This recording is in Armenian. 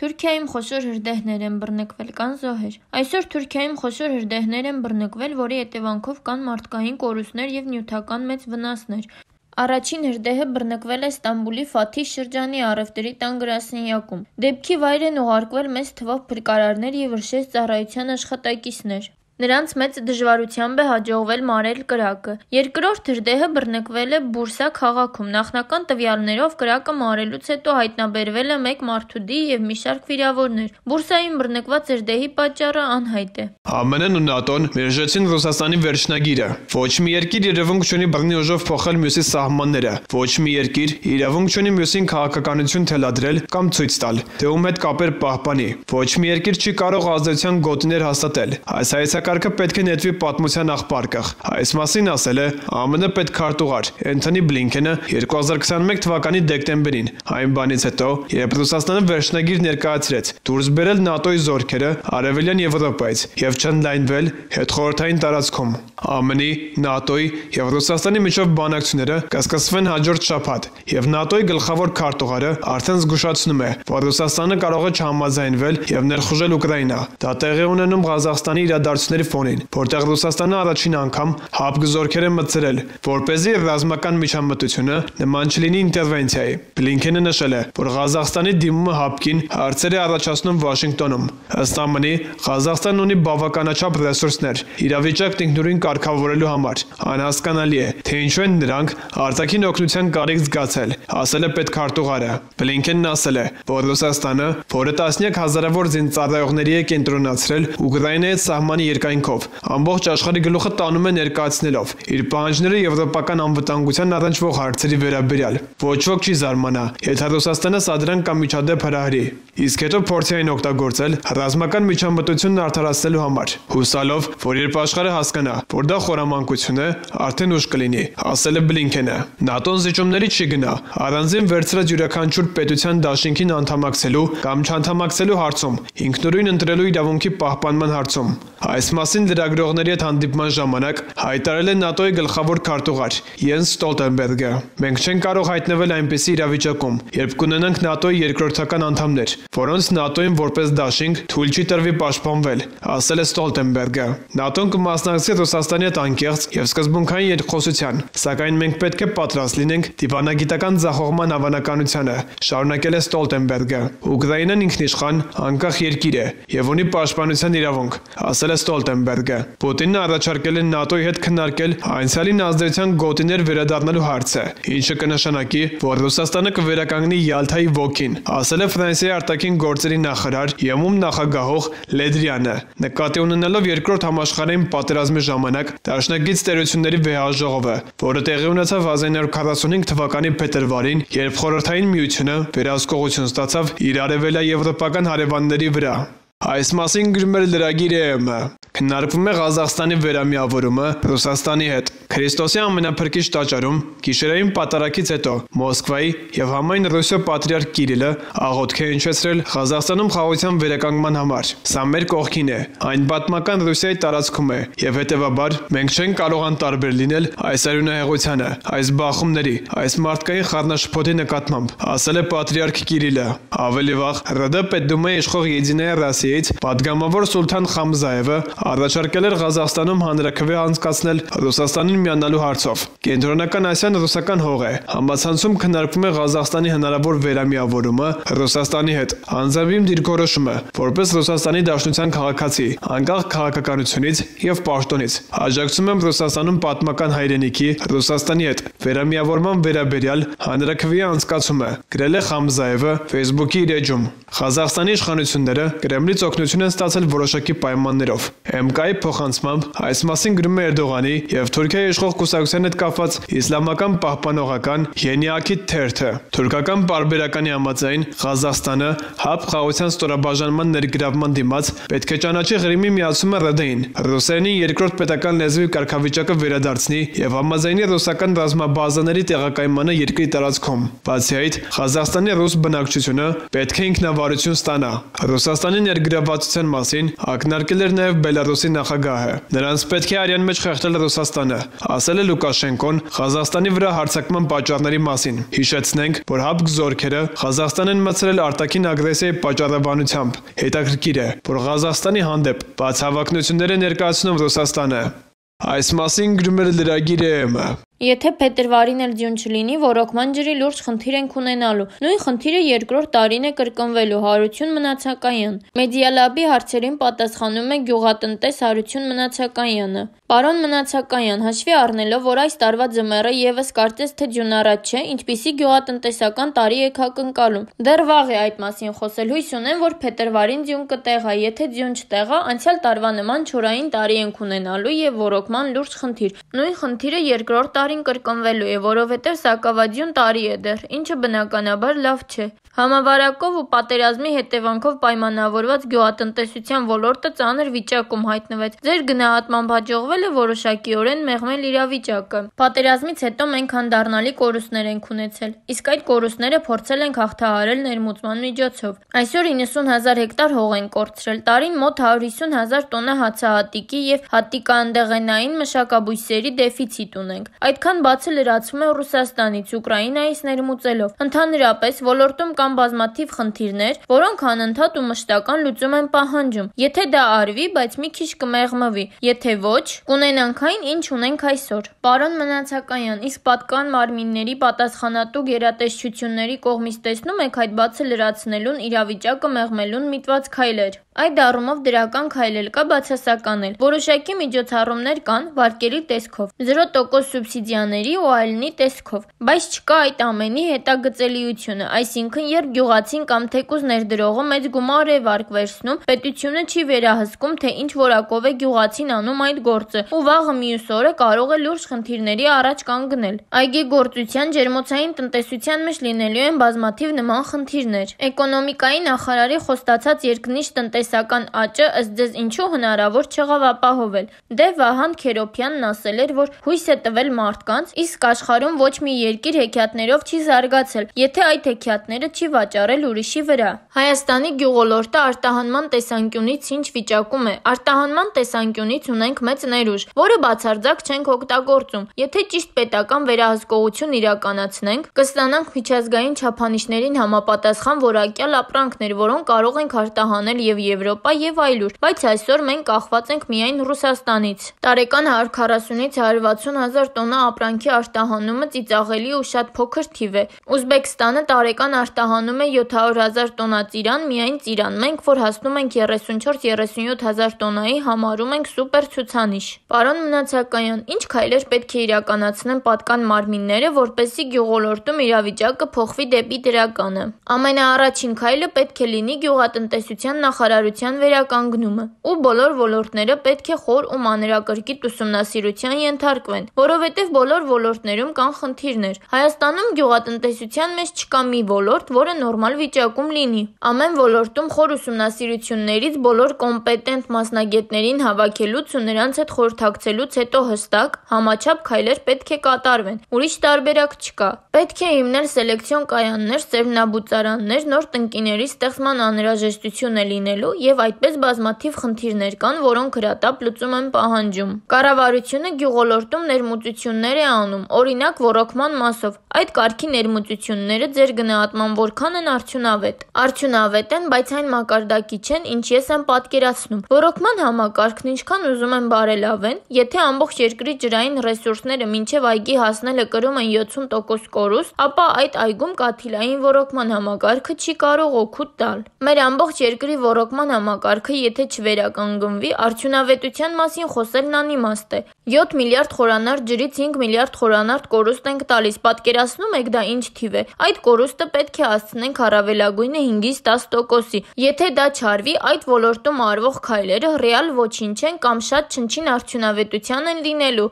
Թուրքիայում խոշոր հրդեհներ են բռնկվել, կան զոհեր։ Այսօր Թուրքիայում խոշոր հրդեհներ են բռնկվել, որի հետևանքով կան մարդկային կորուստներ եւ նյութական մեծ վնասներ։ Առաջին հրդեհը բռնկվել է Ստամբուլի Ֆաթիհ շրջանի առևտրի տան գրասենյակում։ Դեպքի վայր են ուղարկվել մեծ թվով փրկարարներ եւ վրշեց ծառայության աշխատակիցներ։ Նրանց մեծ դժվարությամբ է հաջողվել մարել կրակը։ Երկրորդ հրդեհը բռնկվել է Բուրսա քաղաքում։ Նախնական տվյալներով կրակը մարելուց հետո հայտնաբերվել է մեկ մարդուդի եւ մի շարք վիրավորներ։ Բուրսայում բռնկված հրդեհի պատճառը անհայտ է։ ԱՄՆ-ն ու ՆԱՏՕ-ն մերժեցին Ռուսաստանի վերջնագիրը։ Ոչ մի երկիր իրավունք չունի բռնի ուժով փոխել մյուսի սահմանները։ Ոչ մի երկիր իրավունք չունի մյուսին քաղաքականություն թելադրել կամ ցույց տալ, թե ում հետ կապեր պահպանի։ Ոչ մի երկիր չի կարող ազդեցության գոտիներ հաստատել։ Այս Կարգը պետք է նետվի պատմության աղբարկղ։ Այս մասին ասել է ԱՄՆ պետքարտուղար Էնթոնի Բլինքենը 2021 թվականի դեկտեմբերին, այն բանից հետո, երբ Ռուսաստանը վերջնագիր ներկայացրեց դուրս բերել ՆԱՏՕ-ի զորքերը Արևելյան Եվրոպայից եւ չընդլայնվել հետխորհրդային տարածքում։ ԱՄՆ-ի, ՆԱՏՕ-ի եւ Ռուսաստանի միջև բանակցությունները կսկսվեն հաջորդ շաբաթ, եւ ՆԱՏՕ-ի գլխավոր քարտուղարը արդեն զգուշացնում է, որ Ռուսաստանը կարող է չհամաձայնվել եւ ներխուժել Ուկրաինա։ Դա տեղի ունենում Ղազախստանի իրադարձությունների ֆոնին, որտեղ Ռուսաստանը առաջին անգամ հապկ զորքեր է մտցրել, որպեսզի ռազմական միջամտությունը նման չլինի ինտերվենցիայի։ Բլինքենը նշել է, որ Ղազախստանի դիմումը հապկին հարցեր է առաջացնում Վաշինգտոնում։ Ըստ ԱՄՆ-ի, Ղազախստանն ունի բավականաչափ ռեսուրսներ իրավիճակն ինքնուրույն կարգավորելու համար։ Անհասկանալի է, թե ինչու են նրանք արտաքին օգնության կարիք զգացել, ասել է պետքարտուղարը։ Բլինքենն ասել է, որ Ռուսաստանը, որը տասնյակ հազարավոր զինծառայողների է կենտրոնացրել Ուկրաինայի սահմանի երկայնքով, ամբողջ աշխարհի գլուխը տանում է ներկայացնելով իր պահանջները եվրոպական անվտանգության առնչվող հարցերի վերաբերյալ։ Ոչ ոք չի զարմանա, եթե Ռուսաստանը սադրանք կամ միջադեպ հրահրի, իսկ հետո փորձի այն օգտագործել ռազմական միջամտությունն արդարացնելու համար, հուսալով, որ երբ աշխարհը հասկանա, որ դա խորամանկություն է, արդեն ուշ կլինի, ասել է Բլինքենը։ ՆԱՏՕ-ն զիջումների չի գնա առանձին վերցրած յուրաքանչյուր պետության դաշինքին անդամակցելու կամ չանդամակցելու հարցում, ինքնուրույն ընտրելու իրավունքի պահպանման հարցում։ Այս մասին լրագրողների հետ հանդիպման ժամանակ հայտարարել է ՆԱՏՕ-ի գլխավոր քարտուղար Յենս Ստոլտենբերգը։ Մենք չենք կարող հայտնվել այնպիսի իրավիճակում, երբ կունենանք ՆԱՏՕ-ի երկրորդական անդամներ, որոնց ՆԱՏՕ-ին որպես դաշինք թույլ չի տրվի պաշտպանվել, ասել է Ստոլտենբերգը։ ՆԱՏՕ-ն կմասնակցի Ռուսաստանի հետ անկեղծ եւ սկզբունքային երկխոսության, սակայն մենք պետք է պատրաստ լինենք դիվանագիտական ձախողման հավանականությանը, շարունակել է Ստոլտենբերգը։ Ուկրաինան ինքնիշխան, անկախ երկիր է եւ ունի պաշտպանության իրավունք, ասել է Ստոլտենբերգը։ Պուտինն առաջարկել է ՆԱՏՕ-ի հետ քննարկել անցյալին ազդեցության գոտիներ վերադառնալու հարցը, ինչը կնշանակի, որ Ռուսաստանը կվերականգնի Յալթայի ոգին, ասել է Ֆրանսիայի արտաքին գործերի նախարար ԵՄ նախագահող Լեդրյանը, նկատի ունենալով երկրորդ համաշխարհային պատերազմի ժամանակ դաշնակից տերությունների վեհաժողովը, որը տեղի ունեցավ 1945 թվականի փետրվարին, երբ Խորհրդային Միությունը վերահսկողություն ստացավ իր արևելաեվրոպական հարևանների վրա։ Այս մասին գրում էր լրագիր ԵՄ։ Քննարկվում է Ղազախստանի վերամիավորումը Ռուսաստանի հետ։ Քրիստոսի ամենափրկիչ տաճարում գիշերային պատարագից հետո Մոսկվայի եւ համայն Ռուսիա պատրիարք Կիրիլը աղոթք է հնչեցրել Ղազախստանում խաղաղության վերականգնման համար։ Սա մեր կողքին է, այն պատմական Ռուսիայի տարածքում է եւ հետեւաբար մենք չենք կարող անտարբեր լինել այս արյունահեղությանը, այս բախումների, այս մարդկային խառնաշփոթի նկատմամբ, ասել է պատրիարք Կիրիլը։ Ավելի վաղ ՌԴ պետդումայի իշխող Եդինայա Ռոսիայից պատգամավոր Սուլթան Խամզայևը առաջարկել էր Ղազախստանում հանրաքվե անցկացնել Ռուսաստանին միանալու հարցով։ Կենտրոնական Ասիան ռուսական հող է։ Համացանցում քննարկվում է Ղազախստանի հնարավոր վերամիավորումը Ռուսաստանի հետ։ Անձնավիմ դիրքորոշումը, որպես Ռուսաստանի Դաշնության քաղաքացի, անկախ քաղաքականությունից եւ պաշտոնից։ Աջակցում եմ Ռուսաստանում պատմական հայրենիքի Ռուսաստանի հետ վերամիավորման վերաբերյալ հանրաքվեի անցկացումը, գրել է Խամզայևը Facebook-ի իր էջում։ Ղազախստանի իշխանությունները Կրեմլից օգնություն են ստացել որոշակի պայմաններով։ ՄԿ-ի փոխանցմամբ այս մասին գրում է Էրդողանի եւ Թուրքիայի իշխող կուսակցության հետ կապված իսլամական պահպանողական Ենիակի թերթը։ Թուրքական պարբերականի համաձայն Ղազախստանը հապ խաղաղության ստորաբաժանման ներգրավման դիմաց պետք է ճանաչի Ղրիմի միացումը ՌԴ-ին, ռուսերենի երկրորդ պետական լեզվի կարգավիճակը վերադարձնի եւ համաձայնի ռուսական ռազմաբազաների տեղակայմանը երկրի տարածքում։ Բացի այդ, Ղազախստանի ռուս բնակչությունը պետք է ինքնավարություն ստանա։ Ռուսաստանի ներգրավման նվիրվածության մասին ակնարկել էր նաև Բելարուսի նախագահը։ Նրանց պետք է արյան մեջ խեղդել Ռուսաստանը, ասել է Լուկաշենկոն Ղազախստանի վրա հարձակման պատճառների մասին։ Հիշեցնենք, որ հապկ զորքերը Ղազախստան են մտցրել արտաքին ագրեսիայի պատճառաբանությամբ։ Հետաքրքիր է, որ Ղազախստանի հանդեպ բաց հավակնություններ է ներկայացնում Ռուսաստանը։ Այս մասին գրում էր լրագիրը ԵՄ։ Եթե փետրվարին էլ ձյուն չլինի, ոռոգման ջրի լուրջ խնդիր ենք ունենալու։ Նույն խնդիրը երկրորդ տարին է կրկնվելու։ Հարություն Մնացականյան։ Մեդիալաբի հարցերին պատասխանում է գյուղատնտես Հարություն Մնացակայանը։ Պարոն Մնացականյան, հաշվի առնելով, որ այս տարվա ձմեռը եւս կարծես թե ձյունառատ չէ, ինչպիսի գյուղատնտեսական տարի եք ակնկալում։ Դեռ վաղ է այդ մասին խոսել։ Հույս ունեմ, որ փետրվարին ձյուն կտեղա, եթե ձյուն չտեղա, անցյալ տարվա նման չորային տարի ենք ունենալու եւ ոռոգման լուրջ խնդիր։ Նույն խնդիրը երկրորդ տարին կրկնվելու է, որովհետև սակավաձյուն տարի է դեռ, ինչը բնականաբար լավ չէ։ Համավարակով ու պատերազմի հետևանքով պայմանավորված գյուղատնտեսության ոլորտը ծանր վիճակում հայտնվեց։ Ձեր գնահատմամբ հաջողվել է որոշակիորեն մեղմել իրավիճակը։ Պատերազմից հետո մենք հանդառնալի կորուստներ ենք ունեցել, իսկ այդ կորուստները փորձել ենք հաղթահարել ներմուծման միջոցով։ Այսօր 90,000 հեկտար հող են կորցրել, տարին մոտ 150,000 տոննա հացահատիկի եւ հատիկաանդեղենային մշակաբույսերի դեֆիցիտ ունենք։ Այդքան բացը լրացվում է Ռուսաստանից, Ուկրաինայից ներմուծելով։ Ընդհանրապես ոլորտում կան բազմաթիվ խնդիրներ, որոնք անընդհատ ու մշտական լուծում են պահանջում։ Եթե դա արվի, բայց մի քիչ կմեղմվի, եթե ոչ, կունենանք այն, ինչ ունենք այսօր։ Պարոն Մնացականյան, իսկ պատկան մարմինների պատասխանատու գերատեսչությունների կողմից տեսնում եք այդ բացը լրացնելուն, իրավիճակը մեղմելուն միտված քայլեր։ Այդ առումով դրական քայլ էլ կա, բացասական էլ։ Որոշակի միջոցառումներ կան վարկերի տեսքով, 0% սուբսիդիաների ու այլնի տեսքով, բայց չկա այդ ամենի հետագծելիությունը, այսինքն երբ գյուղացին կամ թեկուզ ներդրողը մեծ գումար է վարկ վերցնում, պետությունը չի վերահսկում, թե ինչ որակով է գյուղացին անում այդ գործը, ու վաղը մյուս օրը կարող է լուրջ խնդիրների առաջ կանգնել։ Այգեգործության, ջերմոցային տնտեսության մեջ լինելու են բազմաթիվ նման խնդիրներ։ Էկոնոմիկայի նախարարի խոստացած երկնիշ տնտեսական աճը ըստ ձեզ ինչու հնարավոր չեղավ ապահովել։ Դե Վահան Քերոփյանն ասել էր, որ հույս է տվել մարդկանց, իսկ աշխարհում ոչ մի երկիր հեքիաթներով չի զարգացել, եթե այդ հեքիաթները չի վաճառել ուրիշի վրա։ Հայաստանի գյուղոլորտը արտահանման տեսանկյունից ինչ վիճակում է։ Արտահանման տեսանկյունից ունենք մեծ ներուժ, որը բացարձակ չենք օգտագործում։ Եթե ճիշտ պետական վերահսկողություն իրականացնենք, կստանանք միջազգային չափանիշներին համապատասխան որակյալ ապրանքներ, որոնք կարող ենք արտահանել եւ Եվրոպա եւ այլուր, բայց այսօր մենք կախված ենք միայն Ռուսաստանից։ Տարեկան 140-ից 160,000 տոննա ապրանքի արտահանումը ծիծաղելի ու շատ փոքր թիվ է։ Ուզբեկստանը տարեկան արտահանում է 700,000 տոննա ծիրան, միայն ծիրան։ Մենք, որ հասնում ենք 34-37,000 տոննայի, համարում ենք սուպեր ցուցանիշ։ Պարոն Մնացականյան, ինչ քայլեր պետք է իրականացնեն պատկան մարմինները, որպեսզի գյուղոլորտում իրավիճակը փոխվի դեպի դրականը։ Ամենաառաջին քայլը պետք է լինի գյուղատնտեսության նախարարության վերականգնումը, ու բոլոր ոլորտները պետք է խոր ու մանրակրկիտ ուսումնասիրության ենթարկվեն, որովհետև բոլոր ոլորտներում կան խնդիրներ։ Հայաստանում գյուղատնտեսության մեջ չկա մի ոլորտ, որը նորմալ վիճակում լինի։ Ամեն ոլորտում խոր ուսումնասիրություններից բոլոր կոմպետենտ մասնագետներին հավաքելուց ու նրանց հետ խորհրդակցելուց հետո հստակ, համաչափ քայլեր պետք է կատարվեն։ Ուրիշ տարբերակ չկա։ Պետք է հիմնել սելեկցիոն կայաններ, սերմնաբուծարաններ, նոր տնկիների ստեղծման անհրաժեշտություն է լինելու եւ այդպես բազմաթիվ խնդիրներ կան, որոնք հրատապ լուծում են պահանջում։ Կառավարությունը գյուղոլորտում ներմուծություններ է անում, օրինակ ոռոգման մասով։ Այդ կարգի ներմուծությունները ձեր գնահատման որքան են արդյունավետ։ Արդյունավետ են, բայց այն մակարդակի չեն, ինչ ես եմ պատկերացնում։ Ոռոգման համակարգն ինչքան ուզում են բարելավեն, եթե ամբողջ երկրի ջրային ռեսուրսները մինչև այգի հասնելը կրում են 70% կորուստ, ապա այդ այգում կաթիլային ոռոգման համակարգը չի կարող օգուտ տալ։ Մեր ամբողջ երկրի ոռոգման համակարգը եթե չվերականգնվի, արդյունավետության մասին խոսելն անիմաստ է։ 7 միլիարդ խորանարդ ջրից 5 միլիարդ խորանարդ կորուստ ենք տալիս, պատկերացնում եք դա ինչ թիվ է։ Այդ կորուստը պետք է հասցնենք առավելագույնը 5-ից 10%-ի։ Եթե դա չարվի, այդ ոլորտում արվող քայլերը ռեալ ոչինչ են կամ շատ չնչին արդյունավետության են լինելու։